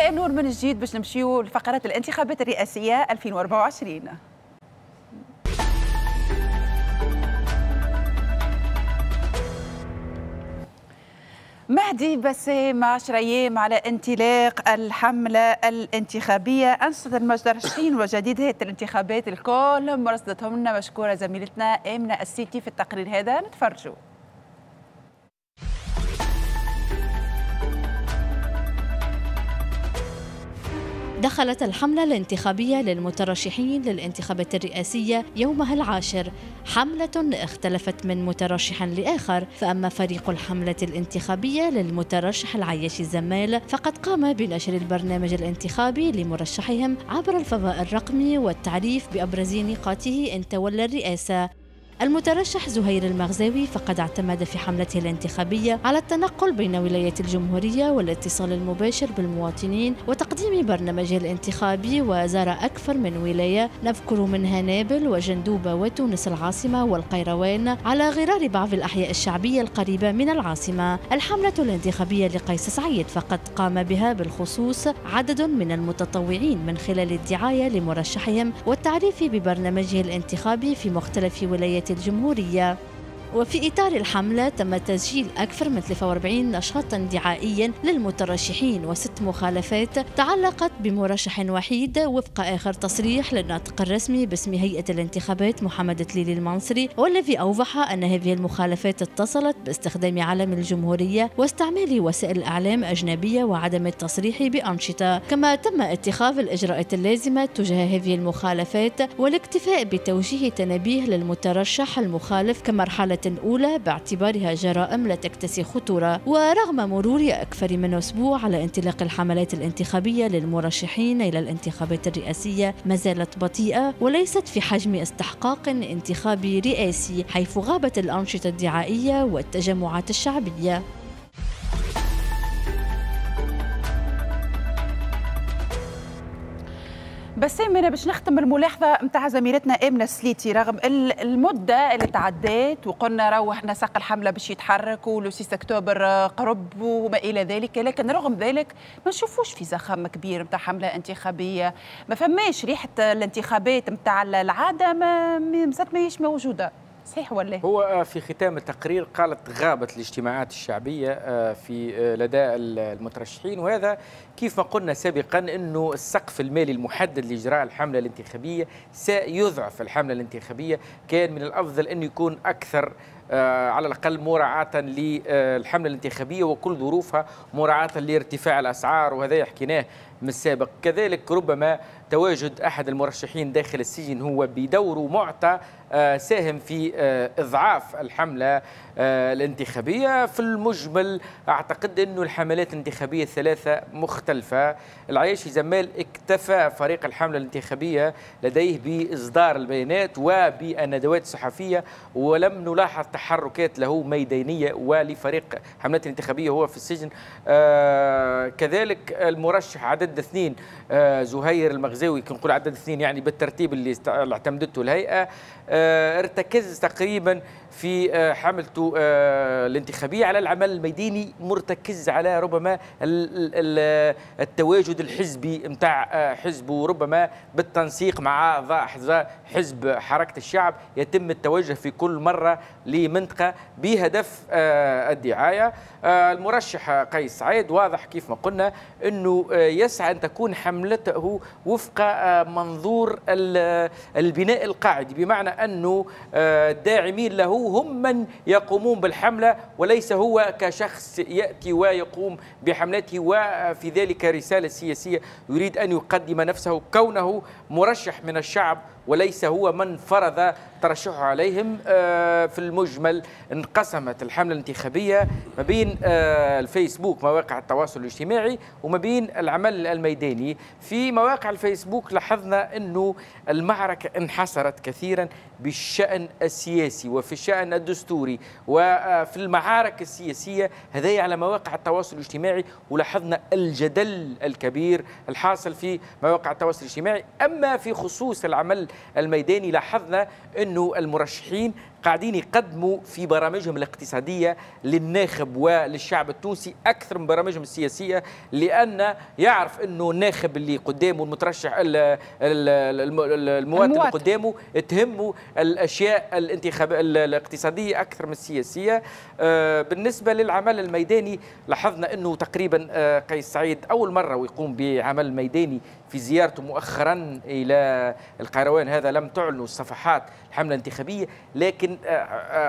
مساء النور من جديد باش نمشيو لفقرات الانتخابات الرئاسية 2024. مهدي بسام، 10 أيام على انطلاق الحملة الانتخابية، أنشطة المترشحين وجديدات الانتخابات الكل مرصدتهم لنا مشكورة زميلتنا آمنة السيتي في التقرير هذا، نتفرجوا. دخلت الحملة الانتخابية للمترشحين للانتخابات الرئاسية يومها العاشر، حملة اختلفت من مترشح لآخر. فأما فريق الحملة الانتخابية للمترشح العياشي الزمال فقد قام بنشر البرنامج الانتخابي لمرشحهم عبر الفضاء الرقمي والتعريف بأبرز نقاطه إن تولى الرئاسة. المترشح زهير المغزاوي فقد اعتمد في حملته الانتخابية على التنقل بين ولايات الجمهورية والاتصال المباشر بالمواطنين وتقديم برنامجه الانتخابي، وزار أكثر من ولاية نذكر منها نابل وجندوبة وتونس العاصمة والقيروان، على غرار بعض الأحياء الشعبية القريبة من العاصمة. الحملة الانتخابية لقيس سعيد فقد قام بها بالخصوص عدد من المتطوعين من خلال الدعاية لمرشحهم والتعريف ببرنامجه الانتخابي في مختلف ولايات الجمهورية. وفي إطار الحملة تم تسجيل أكثر من 43 نشاطا دعائيا للمترشحين وست مخالفات تعلقت بمرشح وحيد، وفق آخر تصريح للناطق الرسمي باسم هيئة الانتخابات محمد تليلي المنصري، والذي أوضح أن هذه المخالفات اتصلت باستخدام علم الجمهورية واستعمال وسائل الإعلام أجنبية وعدم التصريح بأنشطة. كما تم اتخاذ الإجراءات اللازمة تجاه هذه المخالفات والاكتفاء بتوجيه تنبيه للمترشح المخالف كمرحلة أولى باعتبارها جرائم لا تكتسي خطورة. ورغم مرور أكثر من أسبوع على انطلاق الحملات الانتخابية للمرشحين إلى الانتخابات الرئاسية ما زالت بطيئة وليست في حجم استحقاق انتخابي رئاسي، حيث غابت الأنشطة الدعائية والتجمعات الشعبية. بسام، أنا باش نختم الملاحظة نتاع زميلتنا آمنة السليتي، رغم المدة اللي تعدات وقلنا روح نسق الحملة باش يتحرك ولو 6 أكتوبر قرب وما إلى ذلك، لكن رغم ذلك ما نشوفوش في زخم كبير نتاع حملة انتخابية، ما فماش ريحة الانتخابات نتاع العادة، ما ماهيش موجودة. صحيح ولا؟ هو في ختام التقرير قالت غابت الاجتماعات الشعبية في لدى المترشحين، وهذا كيف ما قلنا سابقا أنه السقف المالي المحدد لإجراء الحملة الانتخابية سيضعف الحملة الانتخابية. كان من الأفضل أن يكون أكثر على الأقل مراعاة للحملة الانتخابية وكل ظروفها، مراعاة لارتفاع الأسعار، وهذا حكيناه من السابق. كذلك ربما تواجد أحد المرشحين داخل السجن هو بدوره معطى ساهم في إضعاف الحملة الانتخابية. في المجمل أعتقد أن الحملات الانتخابية الثلاثة مختلفة. العياشي زمال اكتفى فريق الحملة الانتخابية لديه بإصدار البيانات وبالندوات الصحفية، ولم نلاحظ تحركات له ميدانية ولفريق حملات الانتخابية هو في السجن. كذلك المرشح عدد 2 زهير المغزاوي، كنقول عدد 2 يعني بالترتيب اللي اعتمدته الهيئة، ارتكز تقريبا في حملته الانتخابية على العمل الميداني، مرتكز على ربما التواجد الحزبي نتاع حزبه، ربما بالتنسيق مع حزب حركة الشعب يتم التوجه في كل مرة لمنطقة بهدف الدعاية. المرشح قيس سعيد واضح كيف ما قلنا أنه يسعى أن تكون حملته وفق منظور البناء القاعدي، بمعنى أنه الداعمين له هم من يقومون بالحملة وليس هو كشخص يأتي ويقوم بحملته، وفي ذلك رسالة سياسية يريد أن يقدم نفسه كونه مرشح من الشعب وليس هو من فرض ترشحه عليهم. في المجمل انقسمت الحملة الانتخابية ما بين الفيسبوك مواقع التواصل الاجتماعي وما بين العمل الميداني. في مواقع الفيسبوك لاحظنا أنه المعركة انحصرت كثيرا بالشأن السياسي وفي الشأن الدستوري وفي المعارك السياسية، هذه على مواقع التواصل الاجتماعي، ولاحظنا الجدل الكبير الحاصل في مواقع التواصل الاجتماعي. أما في خصوص العمل الميداني لاحظنا أنه المرشحين قاعدين يقدموا في برامجهم الاقتصادية للناخب وللشعب التونسي أكثر من برامجهم السياسية، لأن يعرف أنه الناخب اللي قدامه المترشح المواطن اللي قدامه تهمه الأشياء الاقتصادية أكثر من السياسية. بالنسبة للعمل الميداني لاحظنا أنه تقريبا قيس سعيد أول مرة ويقوم بعمل ميداني في زيارته مؤخرا إلى القيروان، هذا لم تعلن الصفحات الحملة الانتخابية، لكن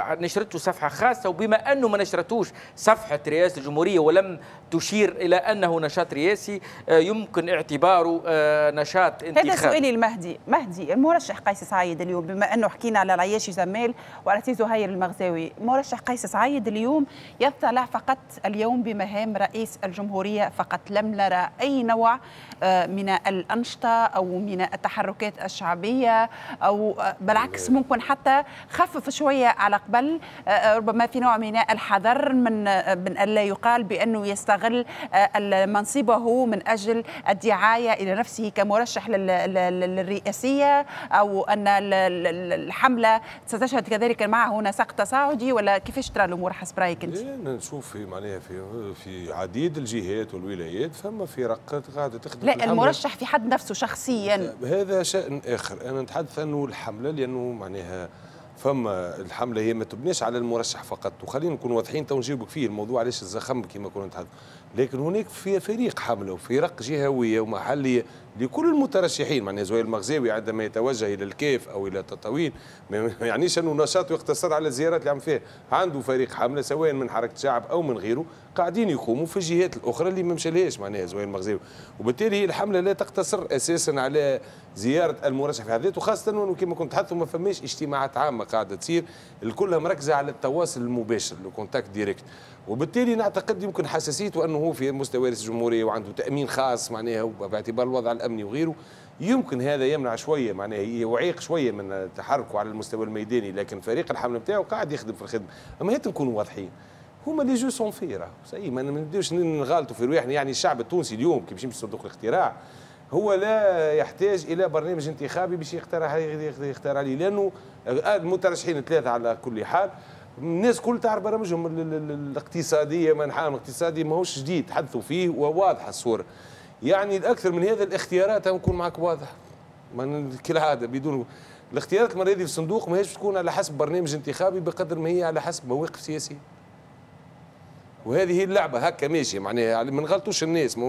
نشرته صفحة خاصة، وبما أنه ما نشرتوش صفحة رئاسة الجمهورية ولم تشير إلى أنه نشاط رئاسي يمكن اعتباره نشاط انتخابي. هذا سؤالي المهدي، مهدي المرشح قيس سعيد اليوم، بما أنه حكينا على العياشي زمال وعلى سي زهير المغزاوي، مرشح قيس سعيد اليوم يطلع فقط اليوم بمهام رئيس الجمهورية فقط، لم نرى أي نوع من الأنشطة أو من التحركات الشعبية، أو بالعكس ممكن حتى خفف شوية على قبل، ربما في نوع من الحذر من ألا يقال بأنه يستغل منصبه من أجل الدعاية إلى نفسه كمرشح للرئاسية، أو أن الحملة ستشهد كذلك معه نسق تصاعدي، ولا كيفاش ترى الأمور حسب رأيك أنت؟ نشوف في معناها في عديد الجهات والولايات فما فرق قاعدة تخدم. لا، المرشح في حد نفسه شخصيا هذا شأن آخر. أنا نتحدث أنه الحملة، لأنه معناها فما الحملة هي ما تبنيش على المرشح فقط، وخلينا نكون واضحين تو نجيبك فيه الموضوع علاش الزخم كما كنا نتحدث، لكن هناك في فريق حمله وفرق جهويه ومحليه لكل المترشحين. معناها زهير المغزاوي عندما يتوجه الى الكاف او الى التطاوين ما يعنيش انه نشاطه يقتصر على الزيارات اللي عم فيها، عنده فريق حمله سواء من حركة شعب او من غيره قاعدين يقوموا في الجهات الاخرى اللي ما مشالهاش معناها زهير المغزاوي، وبالتالي الحملة لا تقتصر اساسا على زيارة المرشح في حد ذاته، خاصة انه كما كنت تحدثوا ما فماش اجتماعات عامة قاعدة تصير، الكلها مركزه على التواصل المباشر le contact direct، وبالتالي نعتقد يمكن حساسيته انه هو في مستوى رئيس الجمهورية وعنده تامين خاص معناها باعتبار الوضع الامني وغيره، يمكن هذا يمنع شوية معناها يعيق شوية من تحركه على المستوى الميداني، لكن فريق الحملة نتاعو قاعد يخدم في الخدمة. اما هات نكونوا واضحين، هما les jeux sont faits راهو صحيح، ما نبداوش نغالطوا في رواحنا. يعني الشعب التونسي اليوم كي باش يمشي صندوق الاقتراع هو لا يحتاج الى برنامج انتخابي باش يختار عليه، لانه المترشحين ثلاثة على كل حال الناس كل تعرف برامجهم الاقتصادية، منحاهم الاقتصادي ماهوش جديد، تحدثوا فيه وواضحة الصورة. يعني الاكثر من هذا الاختيارات نكون معك واضح كالعادة، بدون الاختيارات المرة هذه في الصندوق ماهيش تكون على حسب برنامج انتخابي بقدر ما هي على حسب مواقف سياسية. وهذه هي اللعبة هكا ماشية، معناها ما نغلطوش الناس،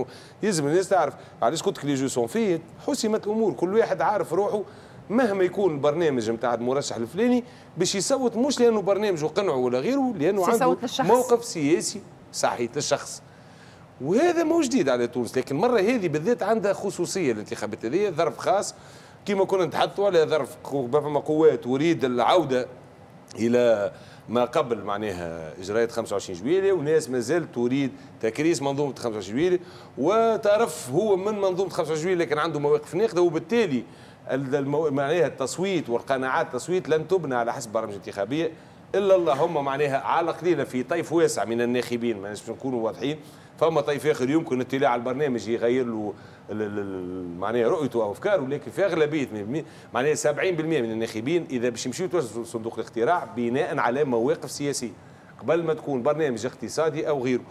يلزم الناس تعرف علاش قلت لك les jeux sont faits، حسمت الامور، كل واحد عارف روحه مهما يكون البرنامج نتاع المرشح الفلاني باش يصوت، مش لانه برنامجه قنعه ولا غيره، لانه عنده موقف سياسي صحيح للشخص. وهذا مو جديد على تونس، لكن المرة هذه بالذات عندها خصوصية الانتخابات هذه، ظرف خاص كما كنا نتحدثوا على ظرف فما قوات تريد العودة الى ما قبل معناها اجراءات 25 جويلية، وناس ما زالت تريد تكريس منظومة 25 جويلية، وطرف هو من منظومة 25 جويلية لكن عنده مواقف ناقدة، وبالتالي معناها التصويت والقناعات التصويت لن تبنى على حسب برامج انتخابية الا اللهم معناها على قليله في طيف واسع من الناخبين، ما باش نكونوا واضحين، فما طيف اخر يمكن الاطلاع على البرنامج يغير له معناها رؤيته او افكاره، لكن في اغلبية معناها 70% من الناخبين اذا باش يمشيو يتوجهوا صندوق الاقتراع بناء على مواقف سياسية قبل ما تكون برنامج اقتصادي او غيره.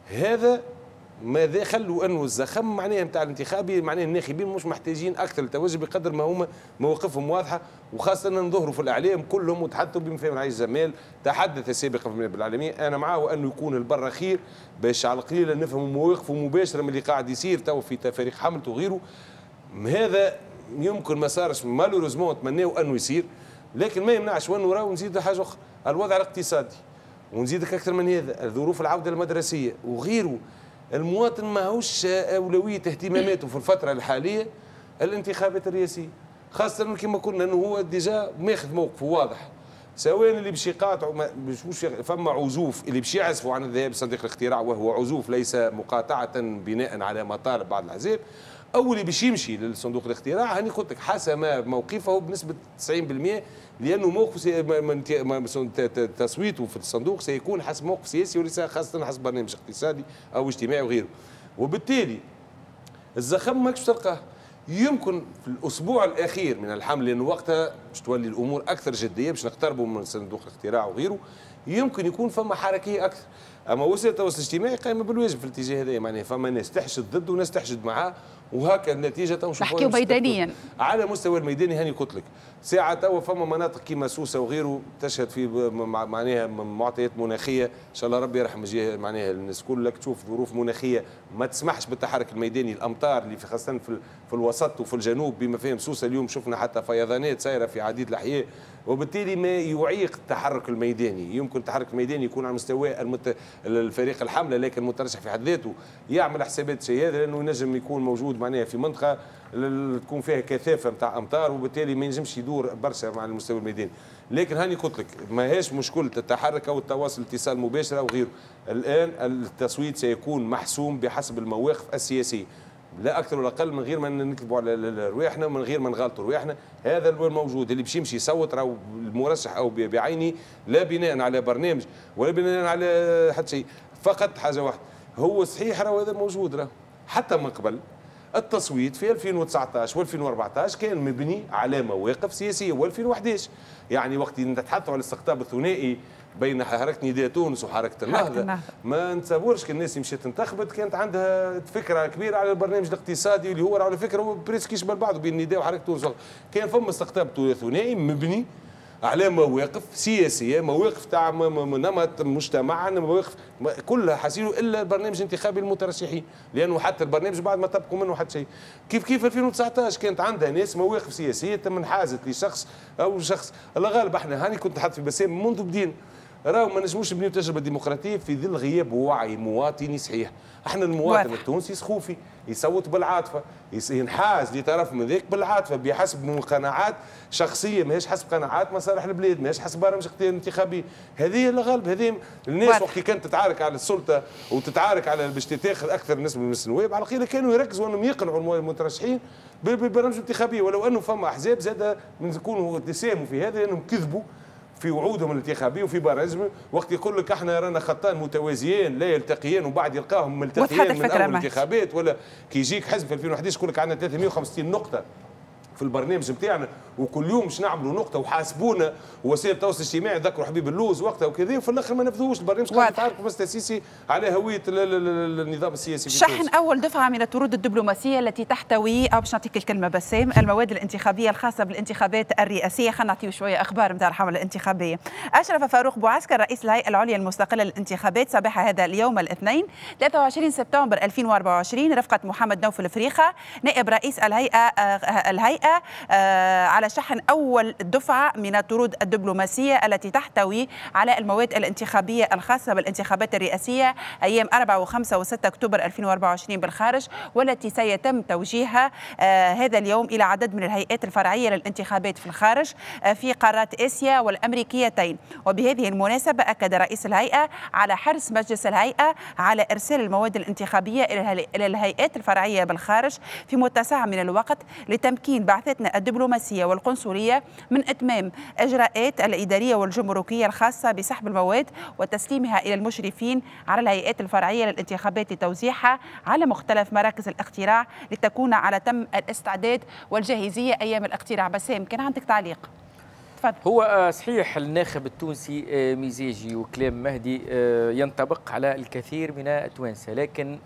هذا ماذا خلوا انه الزخم معناها نتاع الانتخابي معناها الناخبين مش محتاجين اكثر للتوجه بقدر ما هما مواقفهم واضحة، وخاصة نظهروا في الاعلام كلهم وتحدثوا بما فيهم العيش زمال تحدث سابقا في الاعلامية، انا معاه انه يكون البر خير باش على القليلة نفهموا مواقفه مباشرة من اللي قاعد يصير تو في فريق حملته وغيره. هذا يمكن ما صارش malheureusement، نتمناو انه يصير، لكن ما يمنعش وانه راهو نزيد حاجة اخرى، الوضع الاقتصادي، ونزيدك اكثر من هذا ظروف العودة المدرسية وغيره. المواطن ماهوش أولوية اهتماماته في الفترة الحالية الانتخابات الرئاسية، خاصة كما قلنا أنه هو déjà ماخذ موقفه واضح، سواء اللي باش يقاطعوا مش فما عزوف اللي باش يعزفوا عن الذهاب لصندوق الاقتراع وهو عزوف ليس مقاطعة بناء على مطالب بعض الأحزاب، أو اللي باش يمشي للصندوق الاقتراع هاني قلت لك حسم موقفه بنسبة 90%، لأنه موقف تصويته في الصندوق سيكون حسب موقف سياسي وليس خاصة حسب برنامج اقتصادي أو اجتماعي وغيره. وبالتالي الزخم ماكش تلقاه، يمكن في الاسبوع الاخير من الحمل، لانه وقتها باش تولي الامور اكثر جدية، باش نقتربوا من صندوق الاقتراع وغيره، يمكن يكون فما حركية اكثر. اما وسائل التواصل الاجتماعي قائمة بالواجب في الاتجاه هذا، معناها فما ناس تحشد ضد وناس تحشد معاه، وهكا النتيجة تو نشوفوها. نحكيو ميدانيا على مستوى الميداني، هاني قلت لك ساعة توا فما مناطق كيما سوسة وغيره تشهد في معناها معطيات مناخيه، ان شاء الله ربي يرحم معناها الناس كلك تشوف ظروف مناخيه ما تسمحش بالتحرك الميداني، الامطار اللي في خاصة في الوسط وفي الجنوب بما فيهم سوسة اليوم شفنا حتى فيضانات سايرة في عديد الاحياء، وبالتالي ما يعيق التحرك الميداني. يمكن التحرك الميداني يكون على مستوى الفريق الحملة، لكن المترشح في حد ذاته يعمل حسابات شيء هذا، لانه ينجم يكون موجود معناها في منطقة تكون فيها كثافة نتاع امطار، وبالتالي ما ينجمش يدور برشا مع المستوى الميداني. لكن هاني قلت لك ماهيش مشكلة التحرك او التواصل اتصال مباشر او غيره. الان التصويت سيكون محسوم بحسب المواقف السياسية، لا اكثر ولا اقل، من غير ما نكذبوا على رواحنا، من غير ما نغلطوا رواحنا. هذا هو الموجود، اللي باش يمشي يصوت راهو المرشح او بعينه، لا بناء على برنامج ولا بناء على حتى شيء، فقط حاجة واحدة هو صحيح راهو هذا موجود، راهو حتى من قبل التصويت في 2019 و2014 كان مبني على مواقف سياسية، و2011 يعني وقت نتحدثوا على الاستقطاب الثنائي بين حركة نداء تونس وحركه النهضة، ما نتصورش كان الناس مشات انتخبت كانت عندها فكرة كبيرة على البرنامج الاقتصادي اللي هو على فكرة هو presque يشبه بعضه بين النداء وحركه تونس. كان فما استقطاب ثنائي مبني على مواقف سياسية، مواقف تاع نمط مجتمع، مواقف كلها حسيلو الا البرنامج الانتخابي للمترشحين، لانه حتى البرنامج بعد ما طبقوا منه حتى شيء. كيف كيف 2019 كانت عندها ناس مواقف سياسية تم انحازت لشخص او شخص. الله غالب احنا هاني كنت نحط في بسام منذ بدينا، راهو ما نجموش نبنيو تجربه ديمقراطية في ظل غياب وعي مواطني صحيح. احنا المواطن التونسي سخوفي، يصوت بالعاطفه، ينحاز لطرف من ذاك بالعاطفه بحسب قناعات شخصية، ماهيش حسب قناعات مصالح البلاد، ماهيش حسب برامج انتخابية. هذه الغالب، هذه الناس وقت كانت تتعارك على السلطة وتتعارك على باش تاخذ اكثر نسبه من النواب، على الاقل كانوا يركزوا انهم يقنعوا المترشحين بالبرامج الانتخابية، ولو انه فما احزاب زاد يكونوا ساهموا في هذا لانهم كذبوا في وعودهم الانتخابية وفي برامجهم. وقت يقول لك احنا رانا خطان متوازيان لا يلتقيان، وبعد يلقاهم ملتقيان من اول الانتخابات، ولا كي يجيك حزب في 2011 يقول لك عندنا 350 نقطة في البرنامج نتاعنا وكل يوم باش نعملوا نقطة وحاسبونا، ووسائل التواصل الاجتماعي ذكروا حبيب اللوز وقتها وكذا، وفي الاخر ما نفذوش البرنامج. قاعد يتعاركوا بس السيسي على هوية النظام السياسي في شحن اول دفعه من الطرود الدبلوماسية التي تحتوي، او باش نعطيك الكلمة بسام، المواد الانتخابية الخاصة بالانتخابات الرئاسية. خلينا نعطيو شوية اخبار نتاع الحملة الانتخابية. اشرف فاروق بوعسكر رئيس الهيئة العليا المستقلة للانتخابات صباح هذا اليوم الاثنين 23 سبتمبر 2024 رفقه محمد نوفل فريخه نائب رئيس الهيئة على شحن أول دفعة من الطرود الدبلوماسية التي تحتوي على المواد الانتخابية الخاصة بالانتخابات الرئاسية أيام 4 و5 و6 أكتوبر 2024 بالخارج، والتي سيتم توجيهها هذا اليوم إلى عدد من الهيئات الفرعية للانتخابات في الخارج في قارات آسيا والأمريكيتين. وبهذه المناسبة أكد رئيس الهيئة على حرص مجلس الهيئة على إرسال المواد الانتخابية إلى الهيئات الفرعية بالخارج في متسع من الوقت لتمكين بعثتنا الدبلوماسية والقنصلية من إتمام إجراءات الإدارية والجمركية الخاصة بسحب المواد وتسليمها إلى المشرفين على الهيئات الفرعية للانتخابات لتوزيعها على مختلف مراكز الاقتراع لتكون على تم الاستعداد والجاهزية أيام الاقتراع. بسام، كان عندك تعليق؟ تفضل. هو صحيح الناخب التونسي مزاجي، وكلام مهدي ينطبق على الكثير من التوانسة، لكن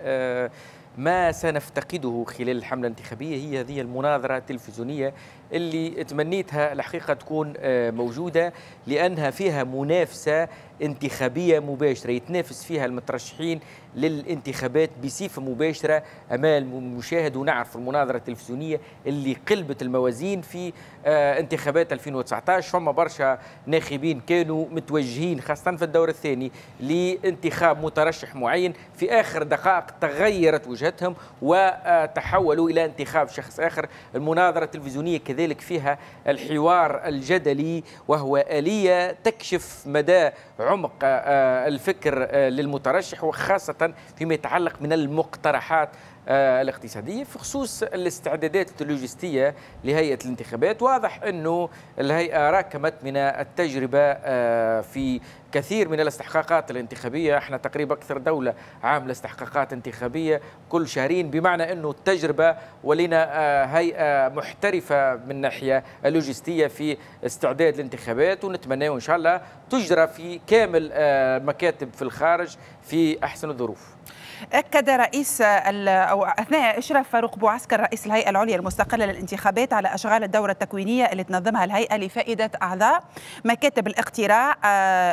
ما سنفتقده خلال الحملة الانتخابية هي هذه المناظرة التلفزيونية اللي تمنيتها الحقيقة تكون موجودة، لأنها فيها منافسة انتخابية مباشرة يتنافس فيها المترشحين للانتخابات بصفة مباشرة أمام المشاهد. ونعرف المناظرة التلفزيونية اللي قلبت الموازين في انتخابات 2019، فما برشا ناخبين كانوا متوجهين خاصة في الدور الثاني لانتخاب مترشح معين، في آخر دقائق تغيرت وجهتهم وتحولوا إلى انتخاب شخص آخر. المناظرة التلفزيونية كذلك فيها الحوار الجدلي، وهو آلية تكشف مدى عمق الفكر للمترشح، وخاصة فيما يتعلق من المقترحات الاقتصادية. في خصوص الاستعدادات اللوجستية لهيئة الانتخابات، واضح أنه الهيئة راكمت من التجربة في كثير من الاستحقاقات الانتخابية. احنا تقريبا أكثر دولة عاملة استحقاقات انتخابية كل شهرين، بمعنى أنه التجربة ولنا هيئة محترفة من ناحية اللوجستية في استعداد الانتخابات، ونتمنى إن شاء الله تجرى في كامل مكاتب في الخارج في أحسن الظروف. أكد رئيس أو أثناء إشراف فاروق بوعسكر رئيس الهيئة العليا المستقلة للانتخابات على أشغال الدورة التكوينية اللي تنظمها الهيئة لفائدة أعضاء مكاتب الاقتراع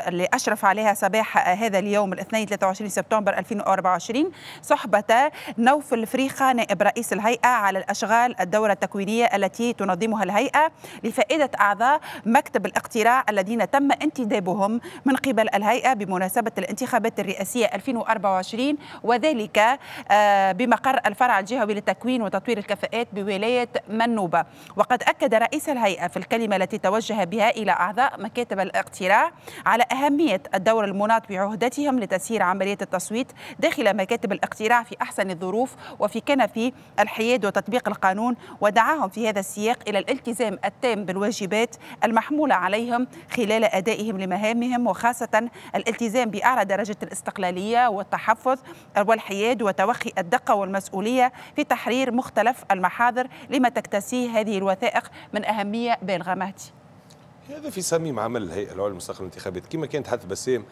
اللي أشرف عليها صباح هذا اليوم الاثنين 23 سبتمبر 2024 صحبة نوفل فريخة نائب رئيس الهيئة على الأشغال الدورة التكوينية التي تنظمها الهيئة لفائدة أعضاء مكتب الاقتراع الذين تم انتدابهم من قبل الهيئة بمناسبة الانتخابات الرئاسية 2024، وذلك بمقر الفرع الجهوي للتكوين وتطوير الكفاءات بولاية منوبة. وقد أكد رئيس الهيئة في الكلمة التي توجه بها إلى أعضاء مكاتب الاقتراع على أهمية الدور المناط بعهدتهم لتسيير عملية التصويت داخل مكاتب الاقتراع في أحسن الظروف وفي كنف الحياد وتطبيق القانون، ودعاهم في هذا السياق إلى الالتزام التام بالواجبات المحمولة عليهم خلال أدائهم لمهامهم، وخاصة الالتزام بأعلى درجة الاستقلالية والتحفظ والحياد وتوخي الدقة والمسؤولية في تحرير مختلف المحاضر لما تكتسيه هذه الوثائق من أهمية بالغة. مهدي، هذا في صميم عمل الهيئة العليا المستقلة للانتخابات. كما كانت حتى بسام،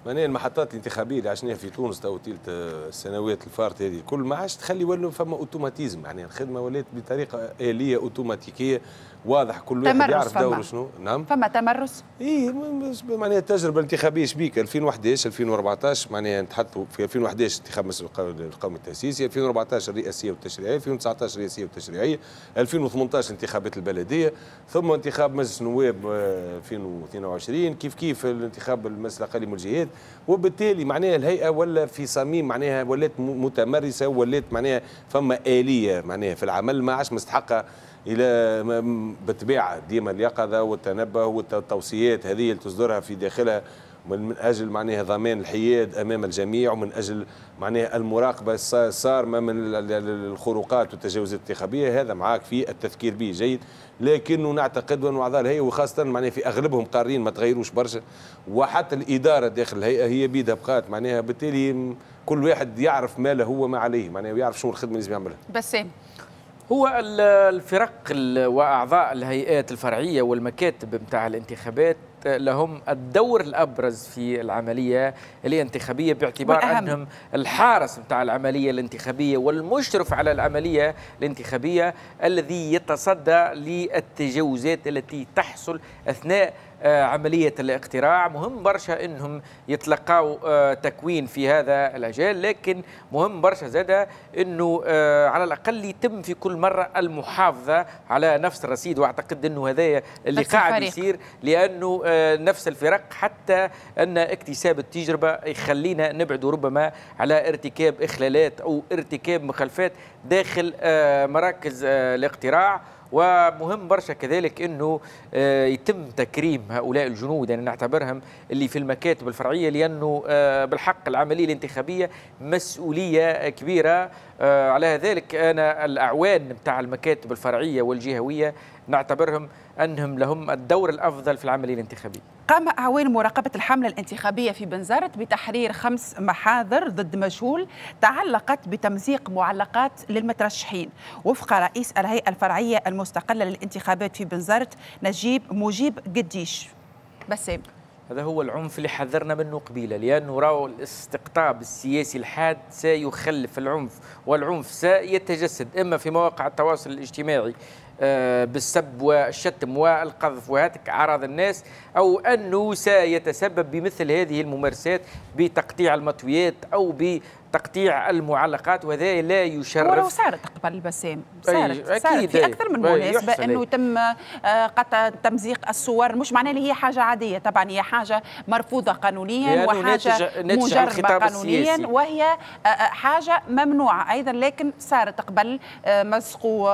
معناها المحطات الانتخابية اللي عشناها في تونس تو تلت السنوات الفارطه هذه الكل ما عادش تخلي ولا فما automatisme، يعني الخدمة ولات بطريقة اليه اوتوماتيكيه، واضح كل واحد يعرف دوره شنو. نعم، فما تمرس. اي معناها التجربة الانتخابية شبيك 2011 2014، معناها نتحدثوا في 2011 انتخاب مجلس القومي التاسيسي، 2014 الرئاسية والتشريعيه، 2019 الرئاسية والتشريعيه، 2018 انتخابات البلدية، ثم انتخاب مجلس النواب 2022، كيف كيف الانتخاب المجلس الاقليم والجهات. وبالتالي معناها الهيئة ولا في صميم معناها ولات متمرسه، ولات معناها فما آلية معناها في العمل ما عادش مستحقه الى بالطبيعة ديما اليقظة والتنبه والتوصيات هذه اللي تصدرها في داخلها من اجل معناها ضمان الحياد امام الجميع، ومن اجل معناها المراقبة الصارمة من الخروقات والتجاوزات الانتخابية. هذا معاك في التذكير به جيد، لكنه نعتقد أن اعضاء الهيئة وخاصة معناها في اغلبهم قارين ما تغيروش برشا، وحتى الادارة داخل الهيئة هي بيدها بقات معناها، بالتالي كل واحد يعرف ما له وما عليه، معناها ويعرف شنو الخدمة اللي لازم يعملها. بسام، هو الفرق واعضاء الهيئات الفرعية والمكاتب نتاع الانتخابات لهم الدور الابرز في العملية الانتخابية، باعتبار انهم الحارس نتاع العملية الانتخابية والمشرف على العملية الانتخابية الذي يتصدى للتجاوزات التي تحصل اثناء عملية الاقتراع. مهم برشا انهم يتلقاو تكوين في هذا المجال، لكن مهم برشا زادة انه على الاقل يتم في كل مرة المحافظة على نفس الرصيد، واعتقد انه هذا اللي قاعد يصير، لانه نفس الفرق حتى ان اكتساب التجربة يخلينا نبعد ربما على ارتكاب اخلالات او ارتكاب مخالفات داخل مراكز الاقتراع. ومهم برشا كذلك انه يتم تكريم هؤلاء الجنود، يعني نعتبرهم اللي في المكاتب الفرعية، لانه بالحق العملية الانتخابية مسؤولية كبيرة. على ذلك انا الاعوان نتاع المكاتب الفرعية والجهويه نعتبرهم انهم لهم الدور الافضل في العملية الانتخابية. قام أعوان مراقبة الحملة الانتخابية في بنزرت بتحرير 5 محاضر ضد مجهول تعلقت بتمزيق معلقات للمترشحين، وفق رئيس الهيئة الفرعية المستقلة للانتخابات في بنزرت نجيب مجيب قديش. بسام، هذا هو العنف اللي حذرنا منه قبيلة، لانه راهو الاستقطاب السياسي الحاد سيخلف العنف، والعنف سيتجسد اما في مواقع التواصل الاجتماعي بالسب والشتم والقذف وهتك أعراض الناس، أو أنه سيتسبب بمثل هذه الممارسات بتقطيع المطويات أو بتقطيع المعلقات، وهذا لا يشرف. ولو صارت قبل بسام، صارت في أكثر من مناسبة أنه تم قطع تمزيق الصور، مش معناه اللي هي حاجة عادية، طبعا هي حاجة مرفوضة قانونيا وحاجة مجرمة قانونيا، وهي حاجة ممنوعة أيضا، لكن صارت قبل مزقوا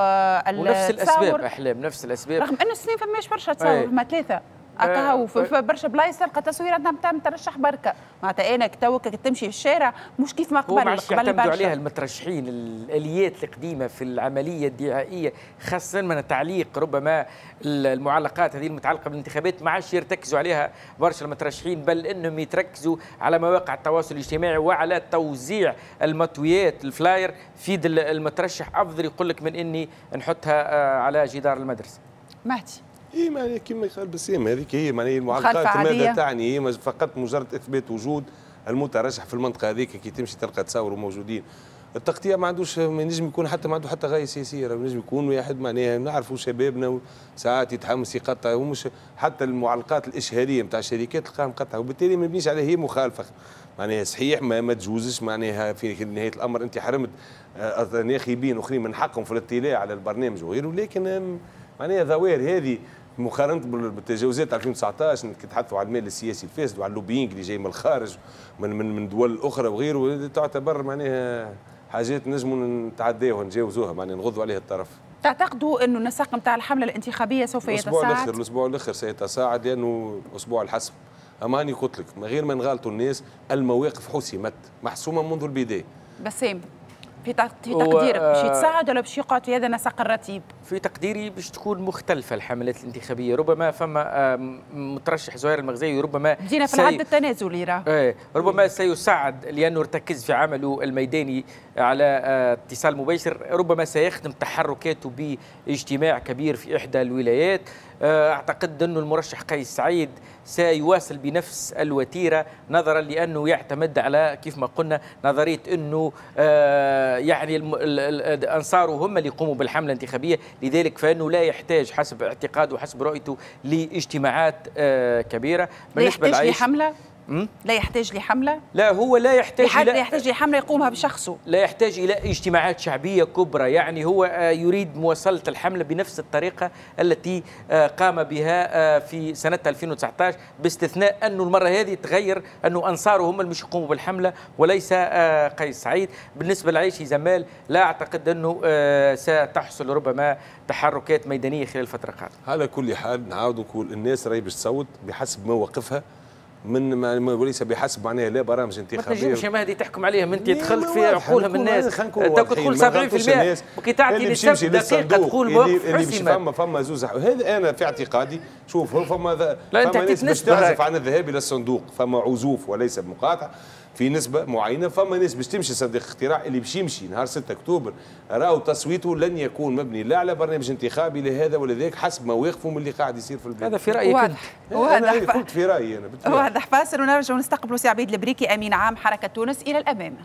ونفس الأسباب أحلام، نفس الأسباب، رغم أنه السنين فماش برشا تصور، ما 3. هكا في برشا بلايص تلقى تصويره نتاع مترشح بركة، معناتها انا تو تمشي في الشارع مش كيف ما قبل. قبل عليها المترشحين الاليات القديمة في العملية الدعائية، خاصة من تعليق ربما المعلقات هذه المتعلقة بالانتخابات ما عادش يرتكزوا عليها برشا المترشحين، بل انهم يتركزوا على مواقع التواصل الاجتماعي وعلى توزيع المطويات ال flyer في المترشح، افضل يقول لك من اني نحطها على جدار المدرسة. مهدي اي معناها كما قال بسام هذيك هي معناها المعلقات ماذا تعني؟ هي فقط مجرد اثبات وجود المترشح في المنطقة هذيك، كي تمشي تلقى تصاوروا موجودين. التغطية ما عندوش، ما ينجم يكون حتى ما عنده حتى غاية سياسية، ينجم يكون واحد معناها نعرفوا شبابنا ساعات يتحمس يقطع، ومش حتى المعلقات الاشهاريه نتاع الشركات تلقاها مقطعه، وبالتالي ما يبنيش عليها هي مخالفة. معناها صحيح ما تجوزش، معناها في نهاية الامر انت حرمت ناخبين اخرين من حقهم في الاطلاع على البرنامج وغيره، لكن معناها ظواهر هذه مقارنة بالتجاوزات 2019 كي تحدثوا على المال السياسي الفاسد وعلى ال lobbying اللي جاي من الخارج من دول اخرى وغيره، تعتبر معناها حاجات نجموا نتعداوها نجاوزوها، معناها نغضوا عليها الطرف. تعتقدوا انه النسق نتاع الحملة الانتخابية سوف يتصاعد؟ الاسبوع الاخر سيتصاعد لانه اسبوع الحسم. اما هاني قلت لك من غير ما نغالطوا الناس، المواقف حسمت محسومة منذ البداية. بسام في تقديرك باش يتصاعد ولا باش يقعد في هذا النسق الرتيب؟ في تقديري باش تكون مختلفة الحملات الانتخابية، ربما فما مترشح زهير المغزاوي ربما بدينا في العد التنازلي راه ربما سيساعد لأنه ارتكز في عمله الميداني على اتصال مباشر، ربما سيخدم تحركاته باجتماع كبير في إحدى الولايات. أعتقد أنه المرشح قيس سعيد سيواصل بنفس الوتيرة، نظرا لأنه يعتمد على كيف ما قلنا نظرية أنه يعني أنصاره هم اللي يقوموا بالحملة الانتخابية، لذلك فإنه لا يحتاج حسب اعتقاده وحسب رؤيته لاجتماعات كبيرة. لا يحتاج لحملة؟ لا يحتاج لحملة؟ لا هو لا يحتاج لا يحتاج لحملة يقومها بشخصه، لا يحتاج إلى اجتماعات شعبية كبرى، يعني هو يريد مواصلة الحملة بنفس الطريقة التي قام بها في سنة 2019، باستثناء أنه المرة هذه تغير أنه أنصاره هم اللي مش يقوموا بالحملة وليس قيس سعيد. بالنسبة لعيشي زمال لا أعتقد أنه ستحصل ربما تحركات ميدانية خلال الفترة القادمة. على كل حال نعاود نقول الناس راهي باش تصوت بحسب مواقفها من وليس بحسب معناها لا برامج انتخابية. ما تنجمش يا مهدي تحكم عليهم، انت دخلت في عقولهم الناس، انت تقول 70% وكي تعطي نسب دقيقة تقول موقف حسم. فما زوز هذا انا في اعتقادي. شوف هو فما ناس باش تعزف عن الذهاب الى الصندوق، فما عزوف وليس بمقاطعة في نسبة معينة، فما ناس باش تمشي صندوق اقتراع اللي باش يمشي نهار 6 أكتوبر راهو تصويته لن يكون مبني لا على برنامج انتخابي لهذا ولا ذاك، حسب مواقفه من اللي قاعد يصير في البلاد. هذا في رأيك واضح. واضح قلت في رأيي أنا. واضح. فاصل ونرجع ونستقبل سي عبيد البريكي أمين عام حركة تونس إلى الأمام.